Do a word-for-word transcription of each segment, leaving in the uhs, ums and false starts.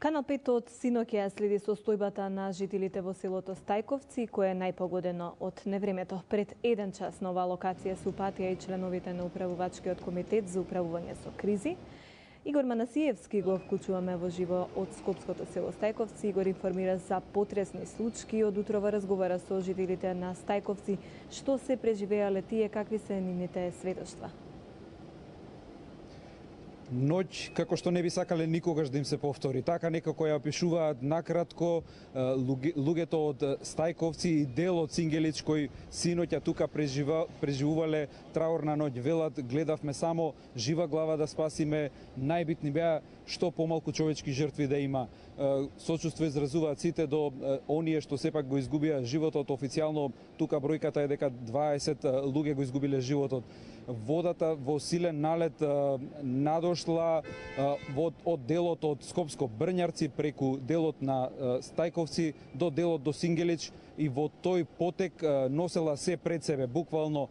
Канал пет од синоќа следи состојбата на жителите во селото Стајковци, кое е најпогодено од невремето. Пред еден час на оваа локација се упатија и членовите на управувачкиот комитет за управување со кризи. Игор Манасиевски го вклучуваме во живо од скопското село Стајковци. Игор информира за потресни случаи. Од утрова разговара со жителите на Стајковци. Што се преживеале тие, какви се нивните сведоштва? Ноќ како што не би сакале никогаш да им се повтори. Така некако ја опишуваат накратко луѓето од Стајковци и дел од Сингелич кои синоќа тука прежива, преживувале траурна ноќ. Велат, гледавме само жива глава да спасиме, најбитни беа што помалку човечки жртви да има. Сочувство изразуваат сите до оние што сепак го изгубија животот. Официјално тука бројката е дека дваесет луѓе го изгубиле животот. Водата во силен налет надошла од, од делот од Скопско Брњарци преку делот на Стајковци до делот до Сингелич и во тој потек носела се пред себе. Буквално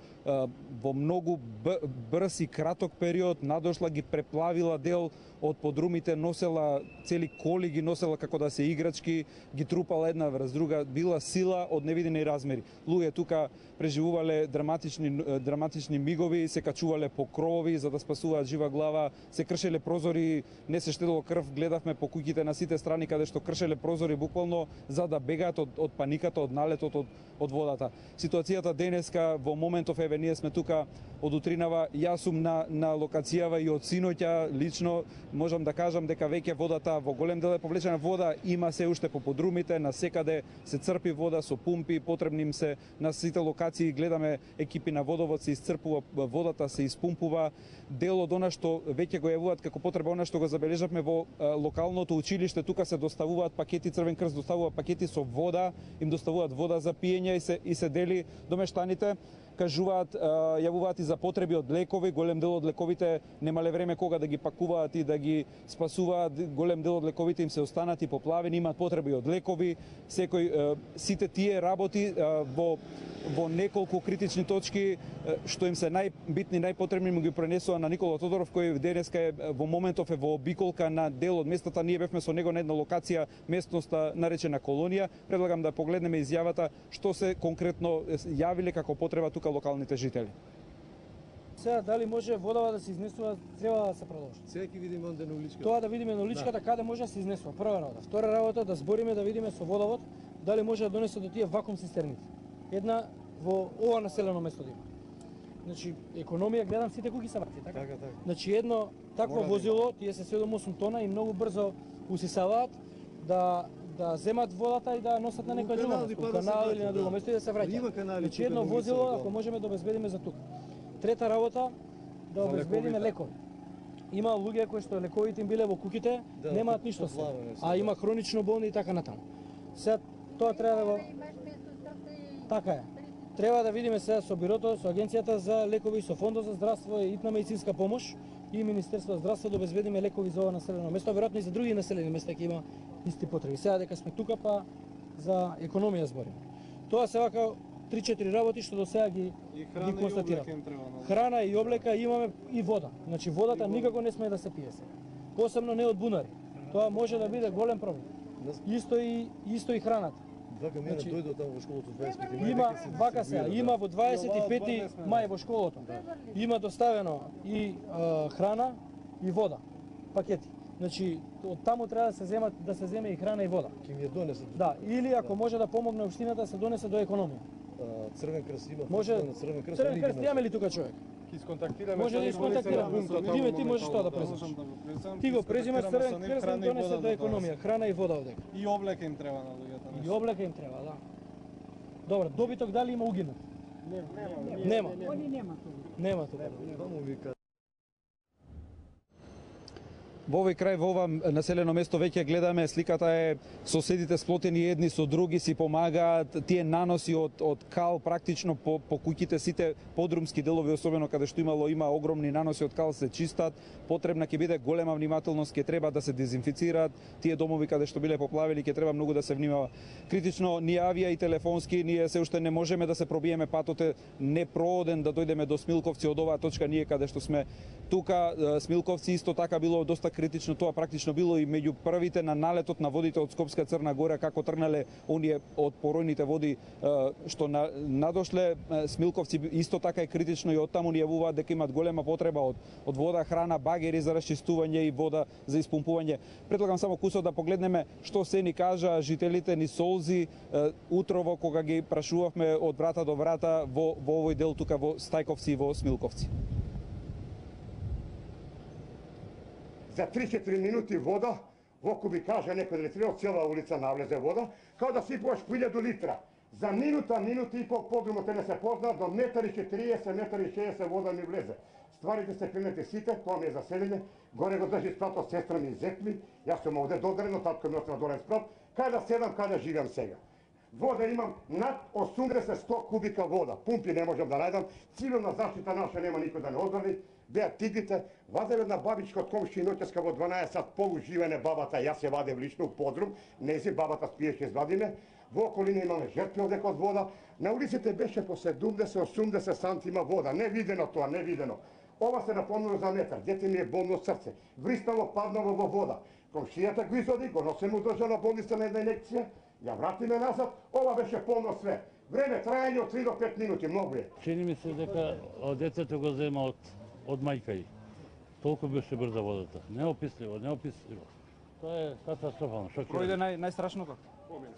во многу брз и краток период надошла, ги преплавила дел од подрумите, носела цели коли, ги носела како да се играчки, ги трупала една врз друга, била сила од невидени размери. Луѓе тука преживувале драматични драматични мигови, се качувале по кровови за да спасуваат жива глава, се кршеле прозори, не се штедило крв, гледавме по куќите на сите страни каде што кршеле прозори буквално за да бегаат од, од паниката, од налетот од, од водата. Ситуацијата денеска во моментов, еве ние сме тука од утринава, јас сум на, на локацијава и од синоќа лично можам да кажам дека веќе водата во голем дел е повлечена. Вода има се уште по подрумите, на секаде се црпи вода со пумпи, потребни им се на сите локации, гледаме екипи на водовод се исцрпува водата, се испумпува. Дел од она што веќе го јавуваат како потреба, она што го забележавме во локалното училиште, тука се доставуваат пакети, Црвен крст доставува пакети со вода, им доставуваат вода за пиење и се и се дели до мештаните. Кажуваат, јавуваат и за потреби од лекови, голем дел од лековите немале време кога да ги пакуваат и да ги спасуваат, голем дел од лековите им се останати поплавени, имаат потреби од лекови, секој сите тие работи во во неколку критични точки што им се најбитни, најпотребни му ги пренесува на Никола Тодоров, кој денеска е во моментов е во обиколка на дел од местата. Ние бевме со него на една локација, местноста наречена Колонија. Предлагам да погледнеме изјавата што се конкретно јавиле како потреба тука локалните жители. Сега дали може водава да се изнесува, треба да се продолжи. Сега ќе видиме онде на уличката. Тоа да видиме на уличката, да, каде може да се изнесува. Прва работа. Втора работа да збориме да видиме со водовод дали може да донесе до тие вакуум цистерните. Една во ова населено место да има. Значи, економија гледам сите куки са вакви, така? Така, така. Значи, едно такво Мора возило, да тие се седум-осум тона и многу брзо усисаваат да да земат водата и да носат на некој друго место, канал или на друго место и да се враќаат. Значи, едно возило ако можеме да обезбедиме за тука. Трета работа да обезбедиме лекови. Има луѓе кои што лековите им биле во куќите, да, немаат ништо се, а има хронично болни и така натаму. Сега тоа треба да го така е. Треба да видиме сега со бирото, со агенцијата за лекови, со фондот за здравство и итна медицинска помош и Министерството за здравство да обезбедиме лекови за ова населено место, веројатно и за други населени места ќе има исти потреби. Сега дека сме тука па за економија збориме. Тоа се вака три-четири работи што до сега ги ги констатирам. Храна и облека имаме и вода. Значи водата никако не смее да се пие сега. Посебно не од бунари. Тоа може да биде голем проблем. Исто и исто и храната. Вака мене Значи, дојдо таму во школото дваесет и пети мај. Има вака сега, има во дваесет и пети мај во школото. Има доставено и а, храна и вода, пакети. Значи од таму треба да се земат да се земе и храна и вода. Ќе ми ја донесат. Да, или ако може да помогне општината да се донесе до економија. Црвен крст има. Може на Црвен крст. Црвен крст имаме ли тука човек? Ќе исконтактираме. Може да исконтактираме. Диме ти можеш тоа да преземеш. Ти го преземаш Црвен крст да донесе до економија, храна и вода овде. И облека им треба на луѓето. И облека им треба, да. Добро, добиток дали има угинат? Нема. Нема. Они нема тоа. Нема тоа. Таму вика. Во овој крај, во ова населено место веќе гледаме, сликата е соседите сплотени едни со други, си помагаат, тие наноси од од кал практично по по куќите, сите подрумски делови, особено каде што имало има огромни наноси од кал, се чистат. Потребна ќе биде голема внимателност, ќе треба да се дезинфицираат тие домови каде што биле поплавени, ќе треба многу да се внимава. Критично ни авија и телефонски, ние се уште не можеме да се пробиеме, патот е непрооден да дојдеме до Смилковци од оваа точка, ние каде што сме тука. Смилковци исто така било доста критично, тоа практично било и меѓу првите на налетот на водите од Скопска Црна Гора, како тргнале оние од поројните води што на, надошле. Смилковци исто така е критично и оттаму ни јавуваат дека имаат голема потреба од, од вода, храна, багери за расчистување и вода за испумпување. Предлагам само кусо да погледнеме што се ни кажа жителите ни Солзи утрово кога ги прашувавме од врата до врата во, во овој дел тука во Стајковци и во Смилковци. За три-четири минути вода, воку би каже некој да треба цела улица навлезе вода, као да сипуваш по илјаду литра. За минута, минута и пол подрумот не се позна, до метар и четириесет, метар и шеесет вода ми влезе. Стварите се клинете сите, тоа ми е заселење, горе го држи спратот сестра ми и зет ми, јас сум овде додарено, татко ми остава долен спрат, кај да седам, кај да живеам сега. Вода имам над осумдесет до сто кубика вода, пумпи не можам да најдам, цивилна заштита наша нема никој да не одбрани, беа тигрите, ваде една бабичка од комши ноќеска во дванаесет сат полуживене бабата, јас ја вадев лично у подрум, нези бабата спиеше извадиме, во околина имаме жертви одека од вода, на улиците беше по седумдесет до осумдесет сантима вода, не видено тоа, не видено. Ова се напомнило за метар, дете ми е болно срце, вриснало, паднало во вода. Комшијата го извади, го носим у државна болница на една инекција, ја вратиме назад, ова беше полно све. Време трајање од три до пет минути, многу е. Чини ми се дека децето го зема од, од мајка и. Толку беше брза водата. Неописливо, неописливо. Тоа е катастрофално, шокирање. Пројде нај, најстрашно како?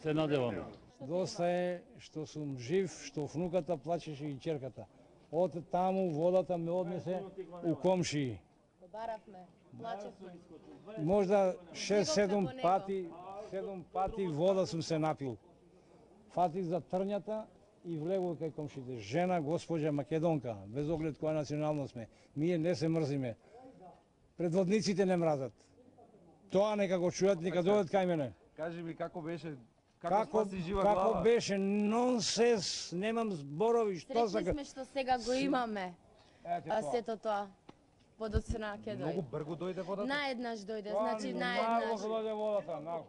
Се надеваме. Доста е што сум жив, што внуката плачеше и ќерката. Од таму водата ме однесе у комшии. Баравме, плачевме. Можда шест-седум пати, седум пати вода сум се напил. Фатих за трњата и влегол кај комшите. Жена, госпоđа македонка, без оглед која националност сме. Ние не се мрзиме. Предводниците не мразат. Тоа нека го чујат, нека дојдат кај мене. Кажи ми како беше, како, Како, спаси жива како глава? беше, нонсенс, немам зборови, што Среќни сака. сме што сега го имаме. Ете А тоа. сето тоа. Водоцрна ќе Многу дојде. брго дојде водата? Наеднаш дојде, Тоа значи нагло наеднаш. дојде водата, нагло.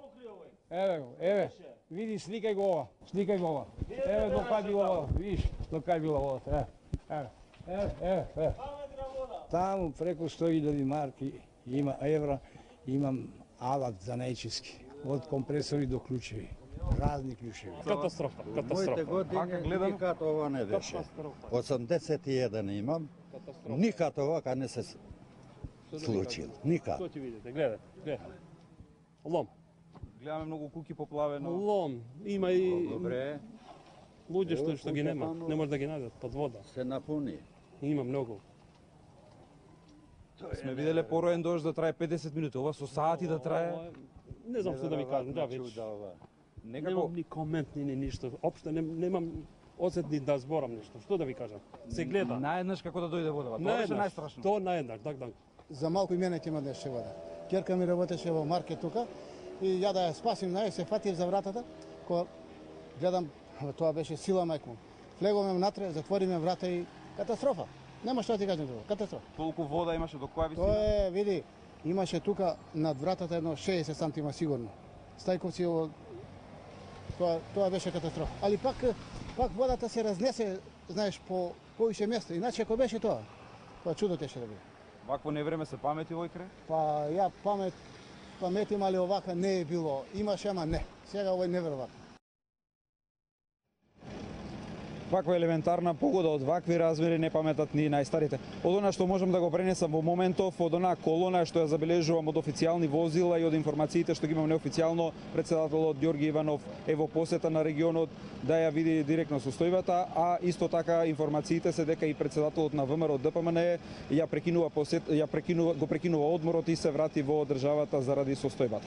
Еве го, еве. Види, сликај го ова, сликај го ова. Еве до кај била вода, видиш, до кај била водата, еве. Еве, еве, еве. Таму преку сто илјади марки има евра, имам алат за најчиски, од компресори до клучеви, разни клучеви. Катастрофа, Моите катастрофа. години гледам. никад ова не беше. осемдесет и еден имам, никад овака не се случил. Никад. Што ќе видите? Гледај, гледај. Лом. Гледаме многу куки поплавено. Лом. Има и Добре, луѓе што Ево, што ги куќа нема. таму. Не може да ги најдат под вода. се напуни. Има многу. Сме виделе пороен дожд да трае педесет минути, ова со сати да трае. Ова е- Не знам што да ви кажам, да веќе. Некако Немам ни комент, ни, ни ништо. Општо не, немам осет ни да зборам нешто. Што да ви кажам? Се гледа. наеднаш како да дојде водата. Тоа беше Наеднаш. најстрашно. Тоа наеднаш, так, так. За малку и мене ќе има днешче вода. Ќерка ми работеше во маркет тука и ја да ја спасим нај се фатив за вратата, кога гледам тоа беше сила мајку. Влеговме внатре, затвориме врата и катастрофа. Нема што да ти кажам тоа, катастрофа. Толку вода имаше до која висина? Тоа е, види, имаше тука над вратата едно шеесет сантима сигурно. Стајковци ово тоа тоа беше катастрофа. Али пак пак водата се разнесе, знаеш, по повише места. Иначе ако беше тоа, тоа чудо теше да биде. Вакво невреме се памети овој крај? Па ја памет, паметим, али овака не е било. Имаше, ама не. Сега овој неверојатно. Ваква елементарна погода од вакви размери не паметат ни најстарите. Од она што можам да го пренесам во моментов, од онаа колона што ја забележувам од официјални возила и од информациите што ги имам неофицијално, председателот Ѓорги Иванов е во посета на регионот да ја види директно состојбата, а исто така информациите се дека и председателот на ВМРО Д П М Н ја прекинува посет, ја прекинува го прекинува одморот и се врати во државата заради состојбата.